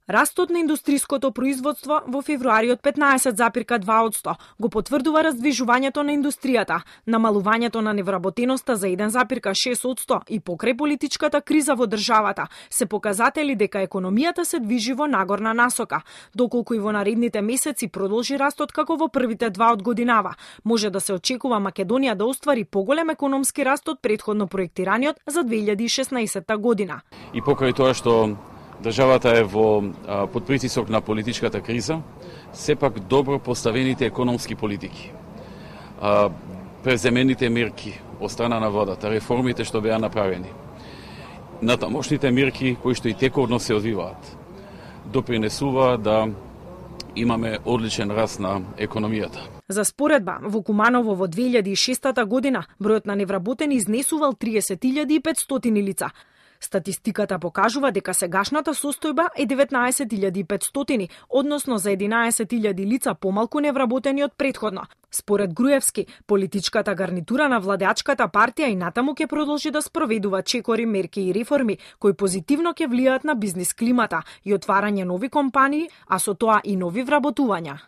Растот на индустриското производство во февруари од 15,2% го потврдува раздвижувањето на индустријата, намалувањето на невработеноста за 1,6% и покрај политичката криза во државата се показатели дека економијата се движи во нагорна насока, доколку и во наредните месеци продолжи растот како во првите 2 од годинава. Може да се очекува Македонија да оствари поголем економски раст од претходно проектираниот за 2016 година. И покрај тоа што државата е под притисок на политичката криза, сепак добро поставените економски политики, преземените мерки од страна на владата, реформите што беа направени, натамошните мерки кои што и текорно се одвиваат, допринесува да имаме одличен раст на економијата. За споредба, во Куманово во 2006 година бројот на невработени изнесувал 30.500 лица. Статистиката покажува дека сегашната состојба е 19.500, односно за 11.000 лица помалку невработени од претходно. Според Груевски, политичката гарнитура на владеачката партија и натаму ќе продолжи да спроведува чекори, мерки и реформи кои позитивно ќе влијаат на бизнис климата и отварање нови компании, а со тоа и нови вработувања.